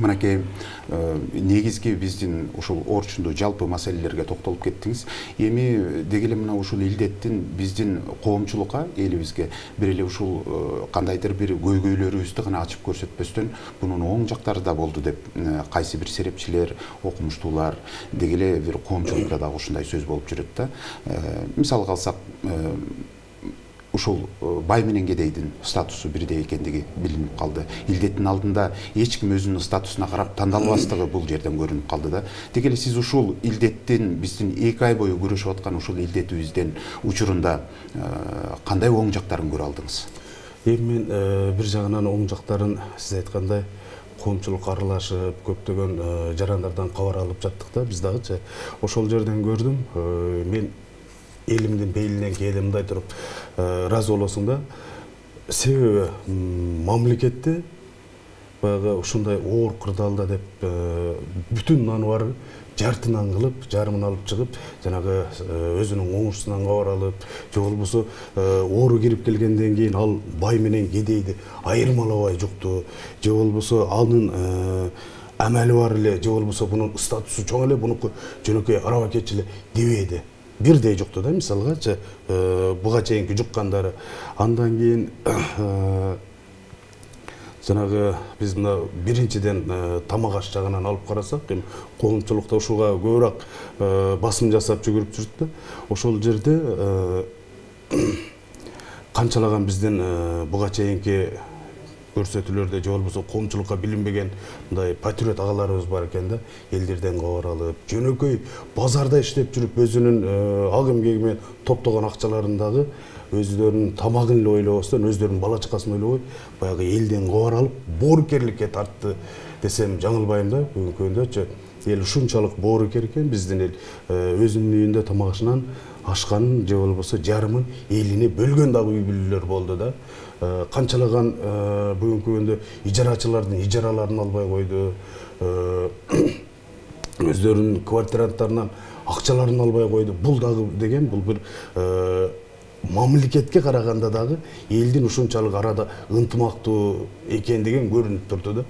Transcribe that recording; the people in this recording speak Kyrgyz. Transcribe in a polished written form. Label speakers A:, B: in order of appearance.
A: Мынакей негизги биздин ушул орчундуу жалпы маселелерге токтолуп кеттиңиз. Эми деги эле мына ушул илдеттин биздин коомчулукка, элибизге бир эле ушул кандайдыр бир көйгөйлөрүбүздү гана ачып көрсөтпөстөн, бунун оң жактары да болду деп кайсы бир серепчилер, окумуштуулар, деги эле бир коомчулукта дагы ушундай сөз болуп жүрөт да. Мисалга алсак, ушул бай менен кедейдин статусу бирдей экендиги билинип калды. Илдеттин алдында эч ким өзүнүн статусуна карап тандалбастыгы бул жерден көрүнүп калды да. Деги эле сиз ушул илдеттин биздин 2 ай бою күрөшүп аткан ушул илдетибиздин учурунда кандай оң жактарын көрө алдыңыз?
B: Эми мен бир жагынан оң жактарын сиз айткандай коомчулук аралашып, көптөгөн жарандардан кабар алып жаттык да, биз дагычы. Ошол жерден көрдүм. Мен элимдин бейилинен кээде мындай туруп ыраазы болосуң да. Себеби мамлекетте баягы ушундай оор кырдаалда деп бүтүн наны бар жартынан кылып, жарымын алып чыгып, жанагы өзүнүн оңушусунан кабар алып, же болбосо оору кирип келгенден кийин ал бай менен кедейди айырмалабай жукту, же болбосо анын амали бар эле, же болбосо бунун статусу чоң эле, бунуку жөнөкөй арабакетчи эле дебейди. Бирдей жукту да, мисалгачы буга чейинки жуккандары. Андан кийин жанагы биз мына биринчиден тамак аш жагынан алып карасак, эми коомчулукта ушуга көбүрөөк басым жасап жүгүрүп жүрүп да. Ошол жерде канчалаган биздин буга чейинки көрсөтүүлөрдө, же болбосо коомчулукка билинбеген мындай патриот агаларыбыз бар экен да, элдерден кабар алып, жөнөкөй базарда иштеп жүрүп өзүнүн агым кегимен топтогон акчаларындагы өздөрүнүн тамагын эле ойлобостон, өздөрүнүн бала чакасын ойлобой, баягы элден кабар алып, боорукерликке тартты десем жаңылбайм да. Бүгүнкү күндө эл ушунчалык боорукер экен, биздин эл өзүнүн үйүндө тамак ашынан ашканын, же болбосо жарымын элине бөлгөн дагы үй бүлөлөр болду да. Канчалаган бүгүнкү күндө ижарачылардын ижараларын албай койду, өздөрүнүн квартиранттарынан акчаларын албай койду. Бул дагы деген бул бир мамлекетке караганда дагы элдин ушунчалык арада ынтымактуу экендиги көрүнүп турду да.